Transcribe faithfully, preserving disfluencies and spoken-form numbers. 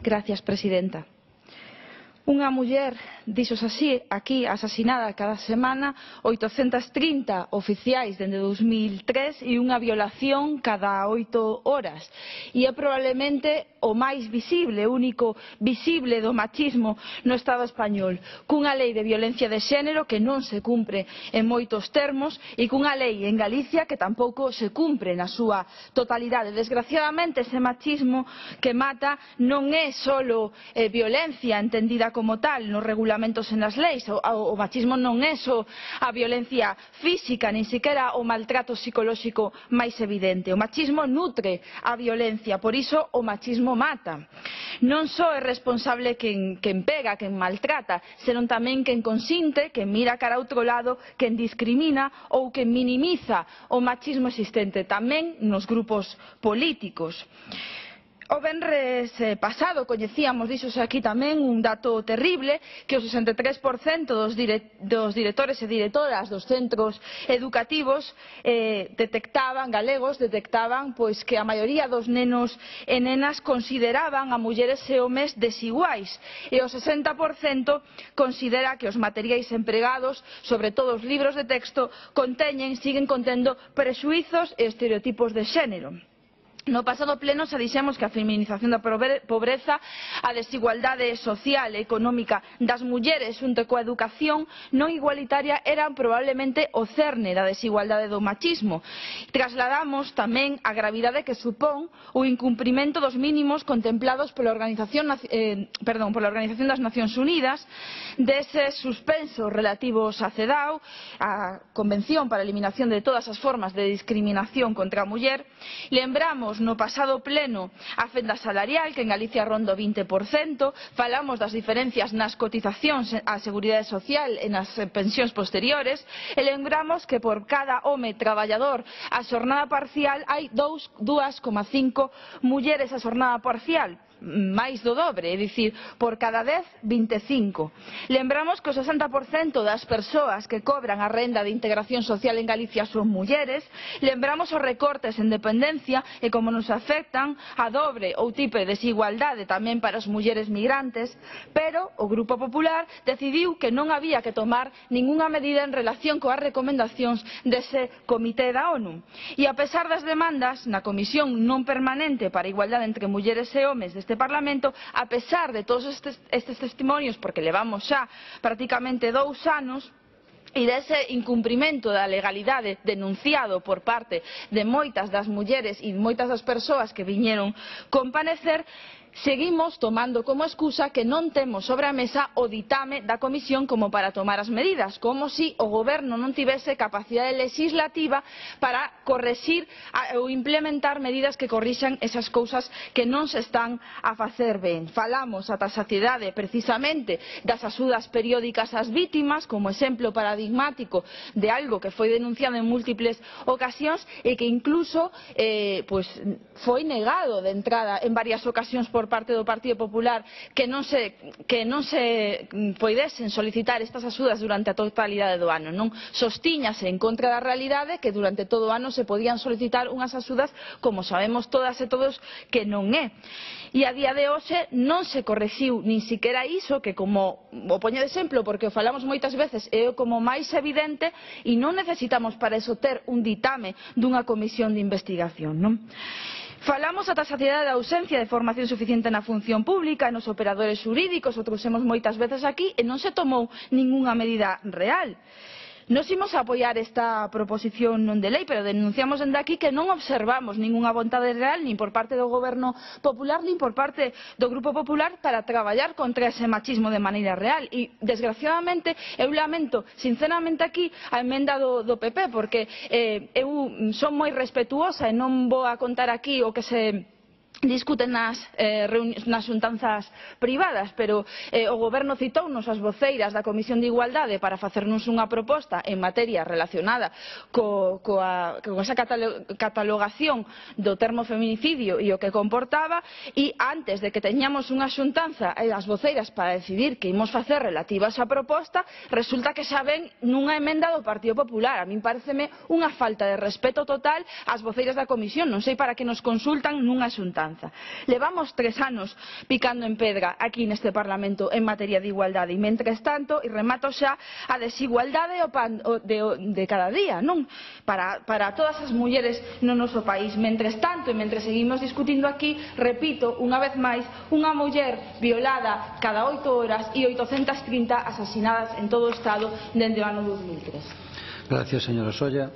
Gracias, presidenta. Unha muller, dixos así, aquí asasinada cada semana, oitocentas trinta oficiais dende dos mil tres e unha violación cada oito horas. E é probablemente o máis visible, o único visible do machismo no Estado español, cunha lei de violencia de xénero que non se cumpre en moitos termos e cunha lei en Galicia que tampouco se cumpre na súa totalidade. Desgraciadamente, ese machismo que mata non é só eh, violencia entendida como tal nos regulamentos e nas leis. O, o machismo non é só a violencia física, nin sequera o maltrato psicolóxico máis evidente. O machismo nutre a violencia, por iso o machismo mata. Non só é responsable quen, quen pega, quen maltrata, senón tamén quen consinte, quen mira cara a outro lado, quen discrimina ou quen minimiza o machismo existente tamén nos grupos políticos. O venres pasado coñecíamos, dixose aquí tamén, un dato terrible, que o sesenta e tres por cento dos, dire, dos directores e directoras dos centros educativos eh, detectaban, galegos, detectaban pois, que a maioría dos nenos e nenas consideraban a mulleres e homes desiguais, e o sesenta por cento considera que os materiais empregados, sobre todo os libros de texto, conteñen, siguen contendo prexuizos e estereotipos de xénero. No pasado pleno xa dixemos que a feminización da pobreza, a desigualdade social e económica das mulleres xunto coa educación non igualitaria eran probablemente o cerne da desigualdade do machismo. Trasladamos tamén a gravidade que supón o incumprimento dos mínimos contemplados pola Organización, eh, perdón, pola Organización das Nacións Unidas, deses suspensos relativos a CEDAW, a Convención para a Eliminación de todas as formas de discriminación contra a muller. Lembramos no pasado pleno a fenda salarial, que en Galicia ronda o vinte por cento, falamos das diferencias nas cotizacións á Seguridade Social e nas pensións posteriores, e lembramos que por cada home traballador a xornada parcial hai dúas coma cinco mulleres a xornada parcial, máis do dobre, é dicir, por cada dez, vinte e cinco. Lembramos que o sesenta por cento das persoas que cobran a renda de integración social en Galicia son mulleres. Lembramos os recortes en dependencia e como nos afectan a dobre ou triple desigualdade tamén para as mulleres migrantes, pero o Grupo Popular decidiu que non había que tomar ningunha medida en relación coas recomendacións dese Comité da ONU. E a pesar das demandas na Comisión non permanente para a igualdade entre mulleres e homes deste Parlamento, a pesar de todos estes, estes testimonios, porque levamos xa prácticamente dous anos, e dese incumprimento da legalidade denunciado por parte de moitas das mulleres e moitas das persoas que viñeron comparecer, seguimos tomando como excusa que non temos sobre a mesa o ditame da Comisión como para tomar as medidas, como se o Goberno non tivese capacidade legislativa para correxir ou implementar medidas que corrixan esas cousas que non se están a facer ben. Falamos ata a saciedade precisamente das axudas periódicas ás vítimas como exemplo paradigmático de algo que foi denunciado en múltiples ocasións e que incluso eh, pues, foi negado de entrada en varias ocasións por parte do Partido Popular que non se, que non se poidesen solicitar estas axudas durante a totalidade do ano. Non sostiñase en contra da realidade que durante todo o ano se podían solicitar unhas axudas como sabemos todas e todos que non é. E a día de hoxe non se correxiu nin siquiera iso, que como o poño de exemplo porque o falamos moitas veces é como máis evidente, e non necesitamos para eso ter un ditame dunha comisión de investigación, non? Falamos ata a saciedade da ausencia de formación suficiente na función pública e nos operadores xurídicos, o trouxemos moitas veces aquí e non se tomou ningunha medida real. Nos imos a apoiar esta proposición non de lei, pero denunciamos dende aquí que non observamos ningunha vontade real nin por parte do Goberno Popular nin por parte do Grupo Popular para traballar contra ese machismo de maneira real. E, desgraciadamente, eu lamento sinceramente aquí a emenda do, do P P, porque eh, eu son moi respetuosa e non vou a contar aquí o que se discuten nas, eh, nas xuntanzas privadas, pero eh, o Goberno citounos as voceiras da Comisión de Igualdade para facernos unha proposta en materia relacionada co, coa, con esa catalogación do termo feminicidio e o que comportaba, e antes de que teñamos unha xuntanza e as voceiras para decidir que imos facer relativa a esa proposta, resulta que xa ven nunha emenda do Partido Popular. A min pareceme unha falta de respeto total ás voceiras da Comisión, non sei para que nos consultan nunha xuntanza. esperanza. Levamos tres anos picando en pedra aquí neste Parlamento en materia de igualdade e, mentres tanto, e remato xa, a desigualdade o pan de, de cada día, non? Para, para todas as mulleres no noso país. Mentres tanto, e mentre seguimos discutindo aquí, repito, unha vez máis, unha muller violada cada oito horas e oitocentas trinta asasinadas en todo o Estado dende o ano dos mil tres. Gracias, señora Solla.